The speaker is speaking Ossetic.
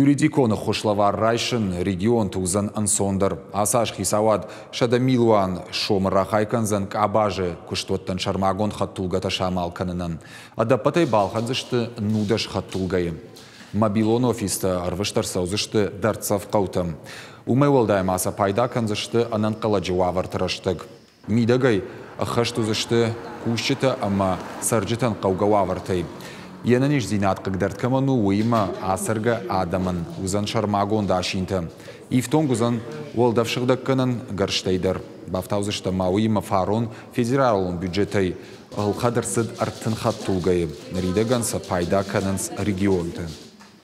Юридикон ӕххуыс лӕвар райсын регионты уыдзӕн ӕнцондӕр. Ацы аз хицауад 100 милуан сомы рахай кӕндзӕн къабазы куыстуӕттӕн сӕрмагонд хӕдтулгӕтӕ самал кӕнынӕн. Ӕдӕппӕтӕй балхӕндзысты 19 хӕдтулгӕйы. Мобилон офистӕ ӕрвыст ӕрцӕудзысты дӕрддзӕф хъӕутӕм. Уымӕй уӕлдай ма сӕ пайда кӕндзысты ӕнӕнхъӕлӕджы уавӕрты рӕстӕг. Мидӕгӕй ӕххӕст уыдзысты кусджытӕ ӕмӕ цӕрджытӕн хъӕугӕ уавӕртӕй. Йе нӕниздзинад хъыгдӕрд кӕмӕн у, уыимӕ ацӕргӕ адӕмӕн уыдзӕн сӕрмагонд асинтӕ. Ифтонг уыдзӕн уӕлдӕфсыгъдӕггӕнӕн гӕрзтӕй дӕр. Бафтаудзыстӕм ма уыимӕ фарон федералон бюджетӕй ӕлхӕд ӕрцыд 30 хӕдтулгӕйы. Ныридӕгӕн сӕ пайда кӕнынц регионты.